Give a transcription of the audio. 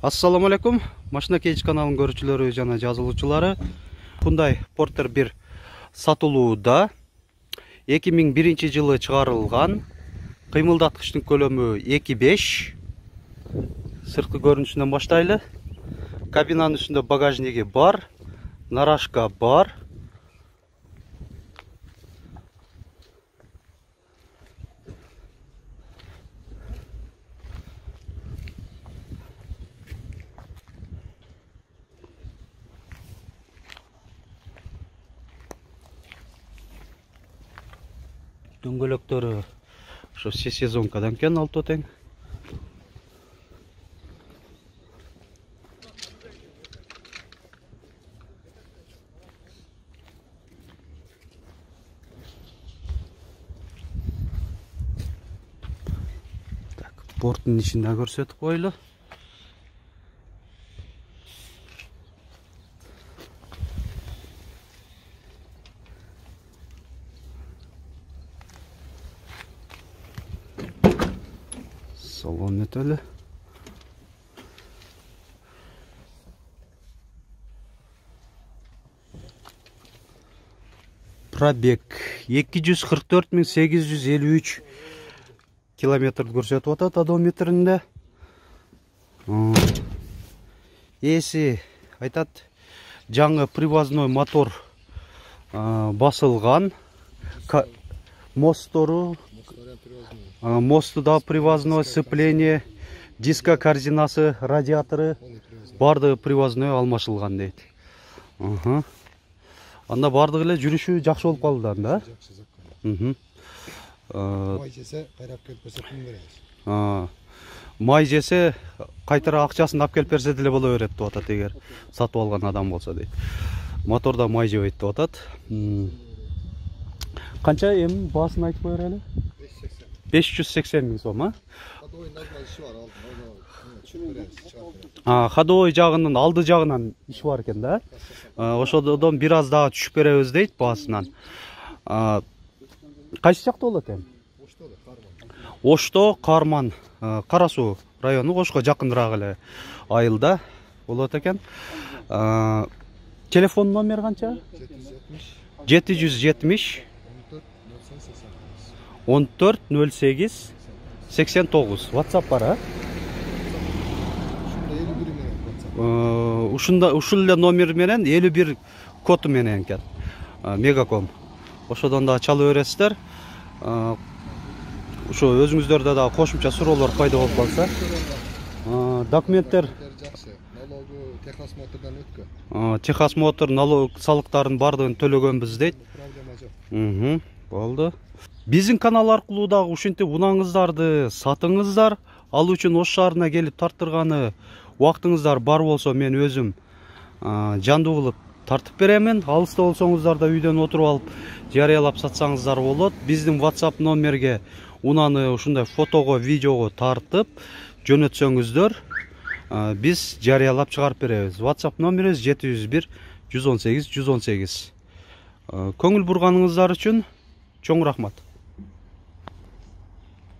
Ассаламу алейкум. Машина кейч каналынын көрүүчүлөрү жана жазылуучулары. Hyundai Porter 1 сатылууда. 2001 жылы чыгарылган. Кыймылдаткычтын көлөмү 2.5. Сырткы көрүнүшүнөн баштайлы. Кабинанын үстүндө багажниги бар, нарашка бар. Дөңгөлөктөрү ошо сезонкадан экен алты тең. Так, борттун ичин да көрсөтүп койлу. Салон этели. Пробег 244.853 километр көрсөтүп атат одометринде. Эси айтат жаңы привозной мотор басылган. Мостору мосту да привозной, сцепление, диска корзинасы, радиаторы бардыгы привозной алмашылган дейт. Анда бардыгы эле жүрүшү жакшы болуп калды да. Май жесе кайрап келип берсе пул беребиз. Май жесе кайтара акчасын алып келип берсе деле боло берет деп атат эгер сатып алган адам болсо дейт. Моторда май жебейт деп атат. Канча эми баасын айтып коер эле? 580 миң сом, Ходовой жагынын алды жагынан иш бар экен да. Ошодон бир аз дагы түшүп беребиз дейт баасынан. Кайсы жакта болот эми? Ошто, Карман, Кара Суу району, Ошко жакыныраак эле айылда болот экен. Телефон номер канча? 770 1408 89. WhatsApp бар, ушул эле номер менен 51 коду менен экен. Мегаком. Ошодон да чалып бересиздер. Ошо өзүңүздөрдө да кошумча суроолор пайда болуп калса. Документтер Техас Мотор налог салыктарын бардыгын төлөгөнбүз дейт. Болду. Биздин канал аркылуу дагы ушинтип унаңыздарды сатыңыздар. Ал үчүн Ош шаарына келип тарттырганы убактыңыздар бар болсо мен өзүм жандуу кылып тартып беремин. Алыста болсоңуздар да үйдөн отуруп алып жарыялап сатсаңыздар болот. Биздин WhatsApp номерге унаны ушундай фотого, видеого тартып жөнөтсөңүздөр биз жарыялап чыгарып беребиз. WhatsApp номерибиз 701 118 118. Көңүл бурганыңыздар үчүн чоң рахмат.